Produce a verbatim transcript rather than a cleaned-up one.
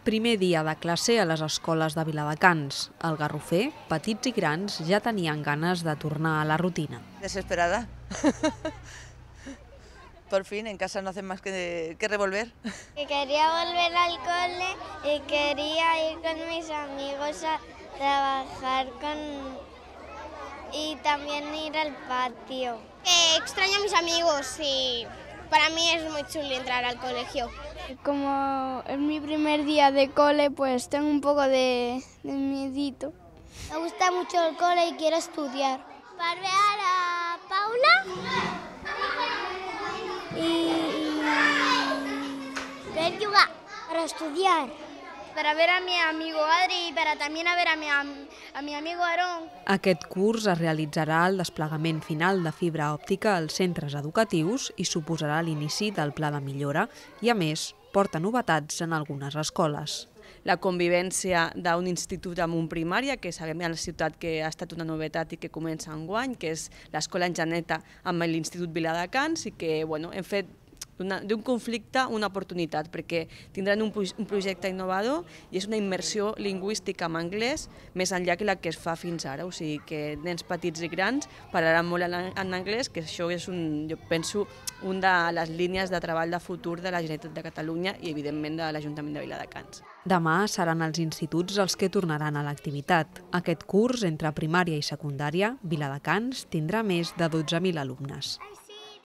Primer dia de classe a les escoles de Viladecans. Al Garrofer, petits i grans ja tenien ganes de tornar a la rutina. Desesperada. Por fin, en casa no hacen más que, que revolver. Que quería volver al cole y quería ir con mis amigos a trabajar con... y también ir al patio. Eh, extraño a mis amigos y para mí es muy chulo entrar al colegio. Como es mi primer día de cole, pues tengo un poco de, de miedito. Me gusta mucho el cole y quiero estudiar. Para ver a Paula y ver jugar. Para estudiar. Para ver a mi amigo Adri y para también a ver a mi, a mi amigo Aarón. Aquest curs es realitzarà el desplegament final de fibra òptica als centres educatius i suposarà l'inici del pla de millora i, a més, porta novetats en algunes escoles. La convivència d'un institut amb un primària, que sabem a la ciutat que ha estat una novetat i que comença enguany, que és l'Escola Enjaneta amb l'Institut Viladecans, i que bueno, hem fet d'un conflicte una oportunitat, perquè tindran un, un projecte innovador i és una immersió lingüística en anglès més enllà que la que es fa fins ara, o sigui que nens petits i grans parlaran molt en, en anglès, que això és, un, jo penso, una de les línies de treball de futur de la Generalitat de Catalunya i, evidentment, de l'Ajuntament de Viladecans. Demà seran els instituts els que tornaran a l'activitat. Aquest curs, entre primària i secundària, Viladecans tindrà més de dotze mil alumnes.